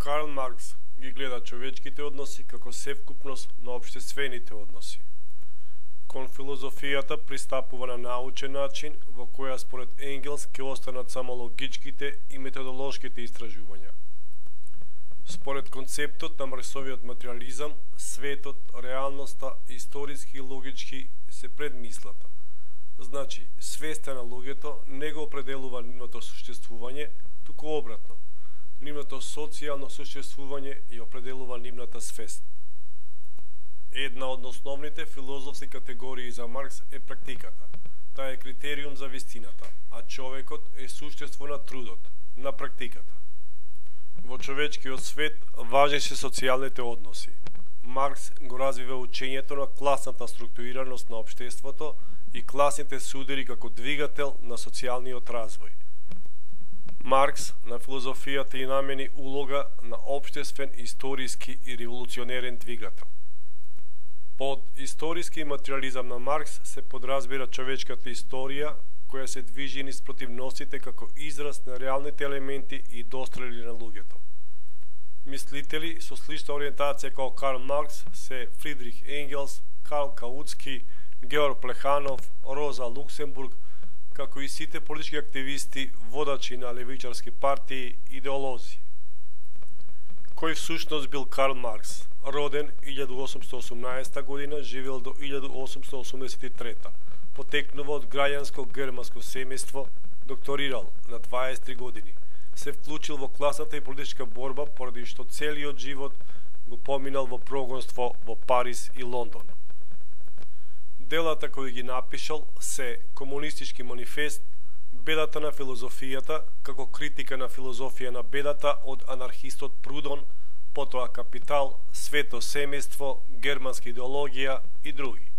Карл Маркс ги гледа човечките односи како севкупност на општествените односи. Кон филозофијата пристапува на научен начин во која според Енгелс ќе останат само логичките и методолошките истражувања. Според концептот на Марксовиот материализам, светот, реалноста, историски и логички се пред мислата. Значи, свеста на луѓето не го определува нивното суштествување, туку обратно. Нивното социјално суштествување ја определува нивната свест. Една од основните филозофски категории за Маркс е практиката. Таа е критериум за вистината, а човекот е суштество на трудот, на практиката. Во човечкиот свет важни се социјалните односи. Маркс го развива учењето на класната структурираност на општеството и класните судери како двигател на социјалниот развој. Маркс на филозофијата и намени улога на општествен, историски и револуционерен двигател. Под историски материализам на Маркс се подразбира човечката историја, која се движи низ противностите како израз на реалните елементи и дострели на луѓето. Мислители со слична ориентација како Карл Маркс се Фридрих Енгелс, Карл Каутски, Георг Плеханов, Роза Луксембург, како и сите политички активисти, водачи на левичарски партии, идеолози. Кој всушност бил Карл Маркс? Роден 1818 година, живел до 1883. Потекнува од граѓанско германско семејство, докторирал на 23 години. Се вклучил во класната и политичка борба, поради што целиот живот го поминал во прогонство во Париз и Лондон. Делата кои ги напишал се Комунистички манифест, Бедата на филозофијата, како критика на филозофија на бедата од анархистот Прудон, потоа Капитал, Свето семејство, Германска идеологија и други.